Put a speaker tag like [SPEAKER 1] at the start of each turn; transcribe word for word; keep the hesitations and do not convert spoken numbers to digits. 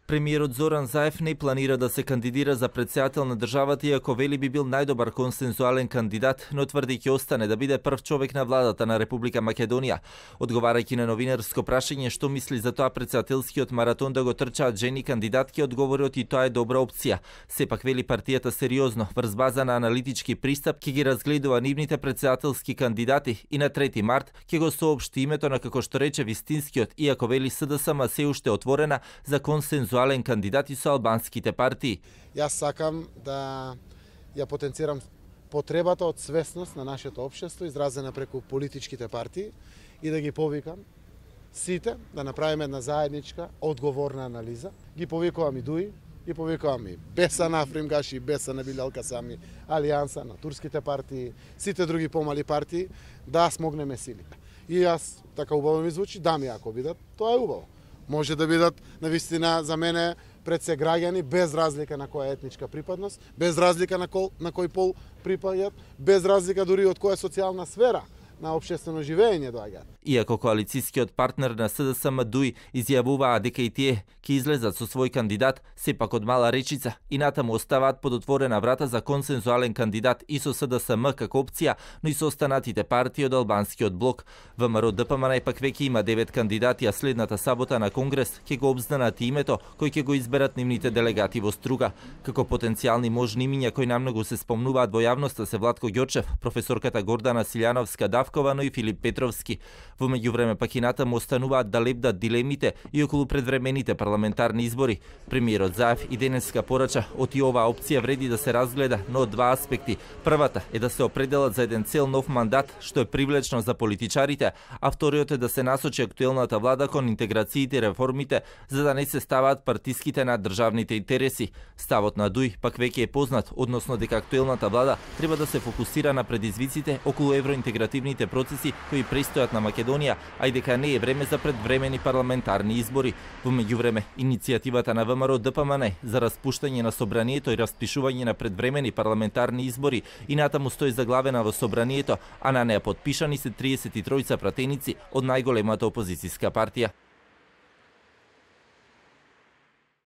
[SPEAKER 1] Премиерот Зоран Заев не планира да се кандидира за претседател на државата, иако вели би бил најдобар консензуален кандидат, но тврди ќе остане да биде прв човек на владата на Република Македонија. Одговарајќи на новинарско прашање што мисли за тоа претседателскиот маратон да го трчаат жени кандидатки, одговорот и тоа е добра опција. Сепак вели партијата сериозно, врз база на аналитички пристап, ќе ги разгледува нивните претседателски кандидати и на трети март ќе го соопшти името на, како што рече, вистинскиот, иако вели СДСМ се уште отворена за консензуален кандидати со албанските партии.
[SPEAKER 2] Јас сакам да ја потенцирам потребата од свесност на нашето општество изразена преку политичките партии и да ги повикам сите да направиме една заедничка одговорна анализа. Ги повикувам и Дуи, ги повикувам и Беса на Афримгаш и Беса на Билал Касами, Алијанса на турските партии, сите други помали партии, да смогнеме силите. И јас, така убаво ми звучи, да ми ако бидат, тоа е убаво. Може да бидат навистина за мене пред се граѓани без разлика на која етничка припадност, без разлика на, кол, на кој пол припаѓаат, без разлика дури од која социјална сфера на општествено живење доаѓаат.
[SPEAKER 1] Иако коалицијскиот партнер на СДСМ Дуи изјавуваа дека и тие ќе излезат со свој кандидат, сепак од мала речица и натаму оставаат под отворена врата за консензуален кандидат и со СДСМ како опција, но и со останатите партии од албанскиот блок. ВМРО ДПМН пак веќе има девет кандидати, а следната сабота на Конгрес ќе го обзнанат името кој ќе го изберат нивните делегати во Струга. Како потенцијални можни имиња кои намногу се спомнуваат во јавноста се Владко Ѓорчев, професорката Гордана Силјановска Давкова, но и Филип Петровски. Во меѓувреме пак и натаму остануваат да лебдат дилемите и околу предвремените парламентарни избори. Премиерот Заев и денеска порача од и оваа опција вреди да се разгледа, но од два аспекти. Првата е да се определат за еден цел нов мандат, што е привлечно за политичарите, а вториот е да се насочи актуелната влада кон интеграциите и реформите, за да не се ставаат партиските на државните интереси. Ставот на Дуи пак веќе е познат, односно дека актуелната влада треба да се фокусира на предизвиците околу евроинтегративните процеси кои престојат на Македонија, а и дека не е време за предвремени парламентарни избори. Во меѓувреме, иницијативата на ВМРО ДПМН за распуштање на собранието и распишување на предвремени парламентарни избори и натаму стои заглавена во собранието, а на неа подпишани се триесет и тројца пратеници од најголемата опозицијска партија.